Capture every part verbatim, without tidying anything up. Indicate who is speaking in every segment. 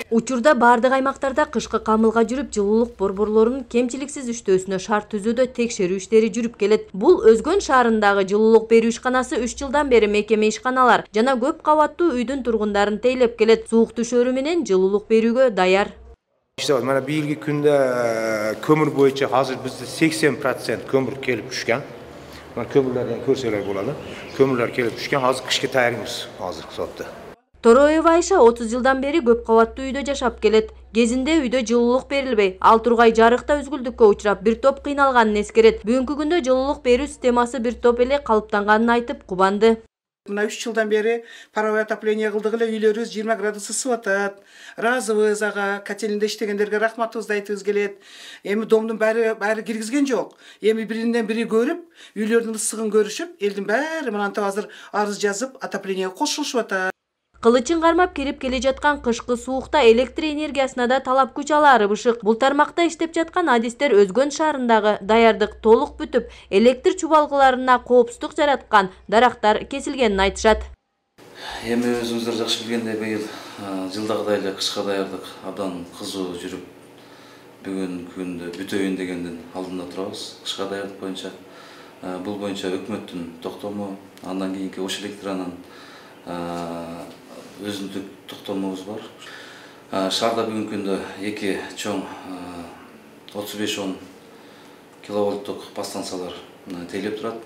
Speaker 1: Учурда бардык аймактарда кышкы камылга жүрүп, жылуулук борборлорунун кемчиликсиз иштөөсүнө шарт түзүүдө текшерүү иштери жүрүп келет. Бул Өзгөн шаарындагы жылуулук берүү ишканасы үч жылдан бери мекеме ишканалар жана көп кабаттуу үйдүн тургундарын тейлеп келет. Суук түшөрү менен жылуулук берүүгө даяр.
Speaker 2: Mana бийилги күндө көмүр боюнча азыр бизде сексен процент көмүр келип түшкөн. Мына көмүрлөрдөн көрсөлөр болот. Көмүрлөр келип түшкөн. Азыр кышка таярбыз азыркы сотто.
Speaker 1: Тороева Айша отуз жылдан бери көп кабаттуу үйдө жашап келет. Кезинде үйдө жылуулук берилбей, ал тургай жарыкта үзгүлдүккө учурап, бир топ кыйналганын эскерет. Бүгүнкү күндө жылуулук берүү системасы бир топ эле калыптанганын айтып кубанды.
Speaker 3: Мына үч жылдан бери паровое отопление кылдык эле, үйлөрүбүз жыйырма градус ысып атат. Ыраазыбыз ага, котелинде иштегендерге рахматыбызды айтыбыз келет. Эми домдун баары баары киргизген жок. Эми биринен бири көрүп, үйлөрдүн ысыгын көрүшүп, элдин баары мынантип азыр арыз жазып, отоплениеге кошулушуп атат.
Speaker 1: Кылычын кармап кирип келе жаткан кышкы суукта электр энергиясына да талап күч алаары бышык. Бул тармакта иштеп жаткан адистер Өзгөн шаарындагы даярдык толук бүтүп, электр чубалгыларына коопсуздук жараткан дарактар кесилгенин айтышат.
Speaker 4: Эми өзүңүздөр жакшы билгендей, быйыл жылдагыдай эле кышка даярдык абдан кызуу жүрүп, бүгүнкү күндө бүтөйүн дегендин алдында турабыз. Кышка даярдык боюнча бул боюнча өкмөттүн токтому, андан кийинки Ош Электранын өзүндүк токтомубуз бар. Шаарда бүгүнкү күндө эки чоң отуз беш он киловольттук подстанциялар тейлеп турат.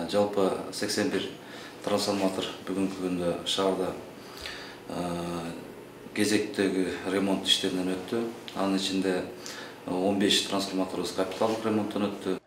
Speaker 4: Жалпы сексен бир трансформатор бүгүнкү күндө шаарда кезектеги ремонт иштеринен өттү. Анын ичинде он беш трансформаторубуз капиталдык ремонттон өттү.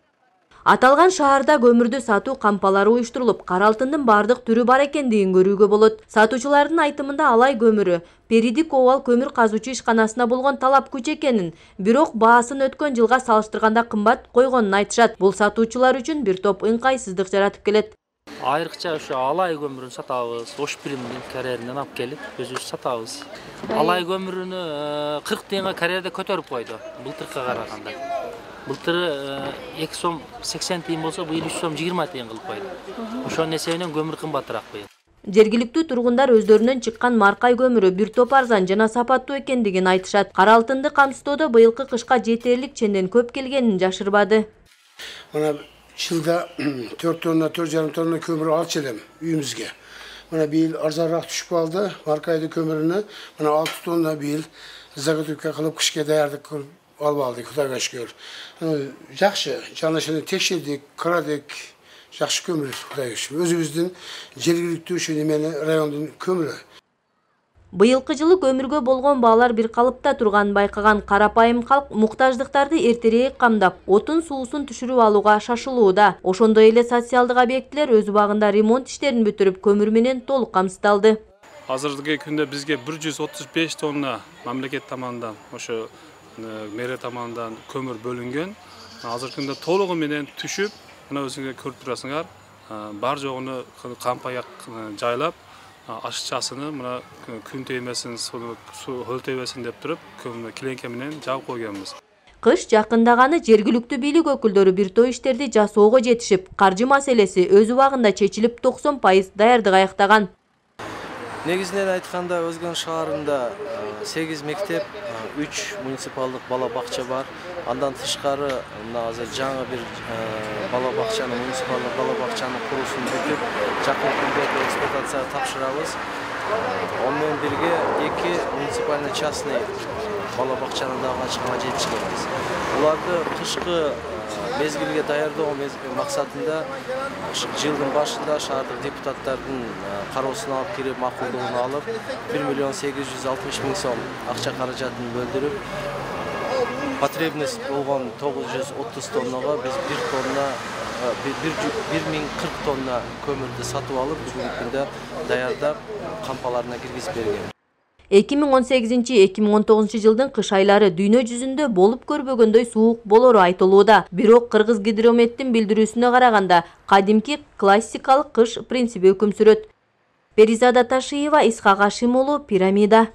Speaker 1: Аталган шаарда көмүрдү сатуу кампалары уюштурулуп, кара алтындын бардык түрү бар экендигин көрүүгө болот. Сатуучулардын айтымында алай көмүрү Перидик Овал көмүр казуучу ишканасына болгон талап күч экенин, бирок баасын өткөн жылга салыштырганда кымбат койгонун айтышат. Бул сатуучулар үчүн бир топ ыңкайсыздык жаратып келет.
Speaker 5: Айрыкча ошо алай көмүрүн сатабыз, Ош Биримдин карьеринен алып келип, өзүбүз сатабыз. Алай көмүрүнү кырк тыйынга карьерде көтөрүп койду, былтыркыга караганда. Былтыры эки сом сексен тыйын болсо, быйыл үч сом жыйырма тыйын кылып койду. Ошонун эсебинен көмүр кымбатыраак быйыл.
Speaker 1: Жергиликтүү тургундар өздөрүнөн чыккан маркай көмүрү бир топ арзан жана сапаттуу экендигин айтышат. Кара алтынды камсыздоодо быйылкы кышка жетерлик ченден көп келгенин жашырбады.
Speaker 6: Мына жылда төрт тонна, төрт жарым тонна көмүр алчу элем үйүбүзгө. Мына быйыл арзаныраак түшүп калды. Маркайды көмүрүнө мына алты тонна быйыл заготовка кылып кышка даярдык кылып алып алдык, Кудайга шүгүр. Жакшы, жанашаны текшердик, карадык, жакшы көмүр, Кудайга шүгүр. Өзүбүздүн жергиликтүү ошо немени райондун көмүрү.
Speaker 1: Быйылкы жылы көмүргө болгон баалар бир калыпта турганын байкаган карапайым калк муктаждыктарды эртерээк камдап, отун суусун түшүрүп алууга шашылууда. Ошондой эле социалдык объектилер өз убагында ремонт иштерин бүтүрүп, көмүр менен толук камсыздалды.
Speaker 7: Азыркы күндө бизге бир жүз отуз беш тонна мамлекет тамагынан, ошо мэрия тамагынан көмүр бөлүнгөн. Азыркы күндө толугу менен түшүп, мына өзүңөр көрүп турасыңар, бар жогуну кампаяк жайлап, ашыкчасыны мына күн тиймесин, суу хөлтөйбесин деп туруп, көмүр килеңке менен жаап койгонбуз.
Speaker 1: Кыш жакындаганы жергиликтүү бийлик өкүлдөрү бир топ иштерди жасоого жетишип, каржы маселеси өз убагында чечилип токсон пайыз даярдык аяктаган.
Speaker 8: Негизинен айтканда Өзгөн шаарында сегиз мектеп, үч муниципалдык бала бакча бар. Андан тышкары мына азыр жаңы бир бала бакчаны, муниципалдык бала бакчанын курулушун бүтүп, жакын күндөрдө эксплуатацияга тапшырабыз. Ону менен бирге эки муниципальный частный бала бакчаны дагы ачканга жетишкенбиз. Буларды кышкы мезгилге даярдоо максатында жылдын башында шаардык депутаттардын кароосуна алып кирип, макулдугун алып, бир миллион сегиз жүз алтымыш миң сом акча каражатын бөлдүрүп, потребность болгон тогуз жүз отуз тоннага биз бир тонна бир миң кырк тонна көмүрдү сатып алып, бүгүнкү күндө даярдап кампаларына киргизип берген.
Speaker 1: эки миң он сегизинчи — эки миң он тогузунчу жылдын кыш айлары дүйнө жүзүндө болуп көрбөгөндөй суук болору айтылууда. Бирок Кыргыз гидрометтин билдирүүсүнө караганда, кадимки классикалык кыш принциби өкүм сүрөт. Перизада Ташиева, Исхак Ашим уулу, Пирамида.